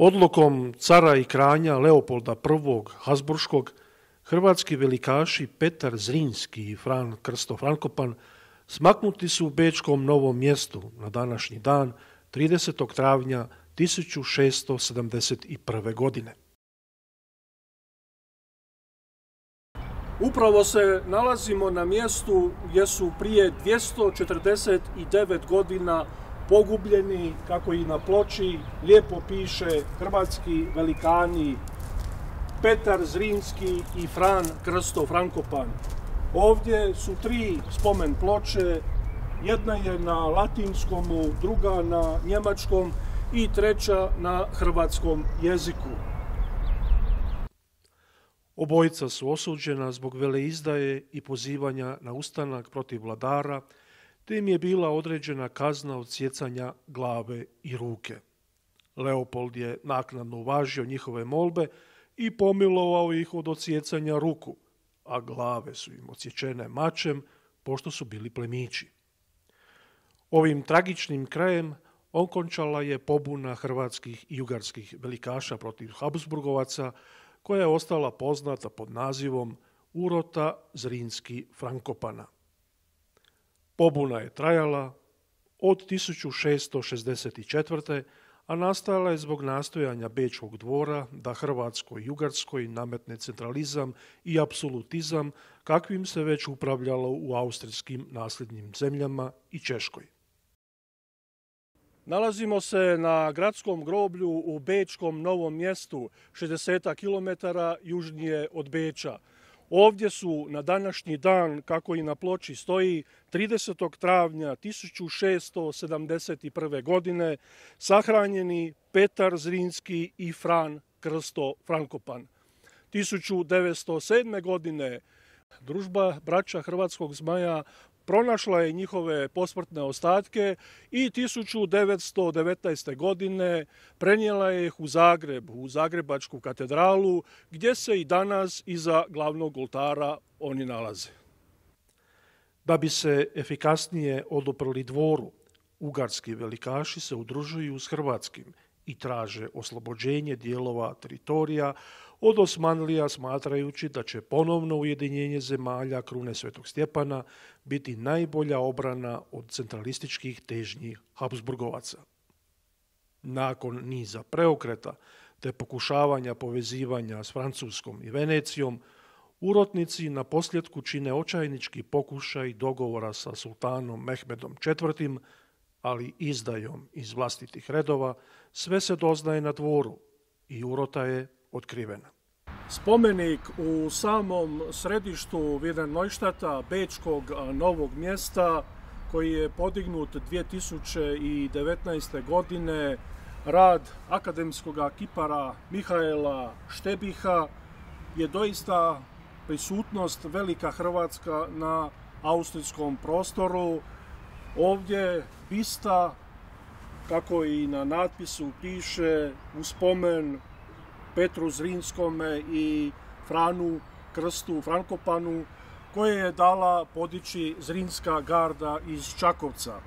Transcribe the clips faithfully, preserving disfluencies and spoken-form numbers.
Odlukom cara i kralja Leopolda prvog. Habsburškog, hrvatski velikaši Petar Zrinski i Fran Krsto Frankopan smaknuti su u bečkom Novom Mjestu na današnji dan tridesetog travnja tisuću šesto sedamdeset prve. godine. Upravo se nalazimo na mjestu gdje su prije dvjesto četrdeset devet godina pogubljeni, kako i na ploči lijepo piše, hrvatski velikani Petar Zrinski i Fran Krsto Frankopan. Ovdje su tri spomen ploče, jedna je na latinskom, druga na njemačkom i treća na hrvatskom jeziku. Obojica su osuđena zbog veleizdaje i pozivanja na ustanak protiv vladara, te im je bila određena kazna odsjecanja glave i ruke. Leopold je naknadno uvažio njihove molbe i pomilovao ih od odsjecanja ruku, a glave su im odsječene mačem, pošto su bili plemići. Ovim tragičnim krajem okončala je pobuna hrvatskih i ugarskih velikaša protiv Habsburgovaca, koja je ostala poznata pod nazivom Urota Zrinski Frankopana. Pobuna je trajala od tisuću šesto šezdeset četvrte. a nastala je zbog nastojanja Bečkog dvora da Hrvatskoj i Ugarskoj nametne centralizam i apsolutizam kakvim se već upravljalo u austrijskim nasljednim zemljama i Češkoj. Nalazimo se na gradskom groblju u Bečkom Novom Mjestu, šezdeset kilometara južnije od Beča. Ovdje su na današnji dan, kako i na ploči stoji, tridesetog travnja tisuću šesto sedamdeset prve. godine sahranjeni Petar Zrinski i Fran Krsto Frankopan. tisuću devetsto sedme. godine družba braća Hrvatskog Zmaja pronašla je njihove posmrtne ostatke i tisuću devetsto devetnaeste. godine prenijela je ih u Zagreb, u Zagrebačku katedralu, gdje se i danas iza glavnog oltara oni nalaze. Da bi se efikasnije oduprli dvoru, ugarski velikaši se udružuju s hrvatskim i traže oslobođenje dijelova teritorija od Osmanlija, smatrajući da će ponovno ujedinjenje zemalja krune Svetog Stjepana biti najbolja obrana od centralističkih težnji Habsburgovaca. Nakon niza preokreta te pokušavanja povezivanja s Francuskom i Venecijom, urotnici na posljedku čine očajnički pokušaj dogovora sa sultanom Mehmedom četvrtim. ali izdajom iz vlastitih redova sve se doznaje na dvoru i urota je otkrivena. Spomenik u samom središtu Wilhelmstadta, Bečkog Novog Mjesta, koji je podignut dvije tisuće devetnaeste. godine, rad akademskog kipara Mihaela Štebiha, je doista prisutnost velika Hrvatska na austrijskom prostoru. Ovdje bista, kako i na natpisu piše, u spomen Petru Zrinskome i Franu Krstu Frankopanu, koje je dala podići Zrinska garda iz Čakovca.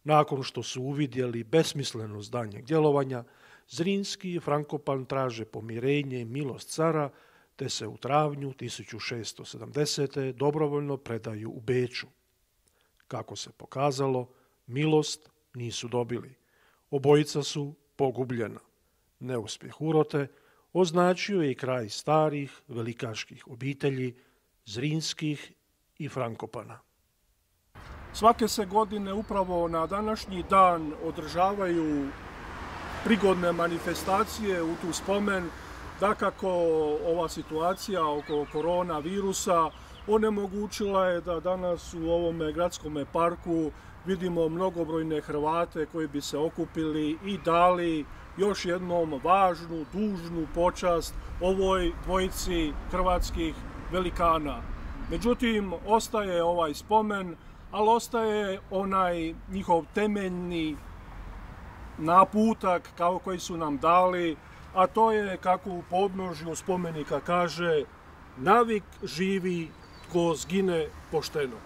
Nakon što su uvidjeli besmislenost daljnjeg djelovanja, Zrinski i Frankopan traže pomirenje i milost cara, te se u travnju tisuću šesto sedamdesete. dobrovoljno predaju u Beču. Kako se pokazalo, milost nisu dobili. Obojica su pogubljena. Neuspjeh urote označio je i kraj starih velikaških obitelji Zrinskih i Frankopana. Svake se godine upravo na današnji dan održavaju prigodne manifestacije u tu spomen. Dakako, ova situacija oko koronavirusa onemogućila je da danas u ovome gradskom parku vidimo mnogobrojne Hrvate koji bi se okupili i dali još jednom važnu, dužnu počast ovoj dvojici hrvatskih velikana. Međutim, ostaje ovaj spomen, ali ostaje onaj njihov temeljni naputak kao koji su nam dali, a to je, kako u podnožju spomenika kaže, navik živi tko zgine pošteno.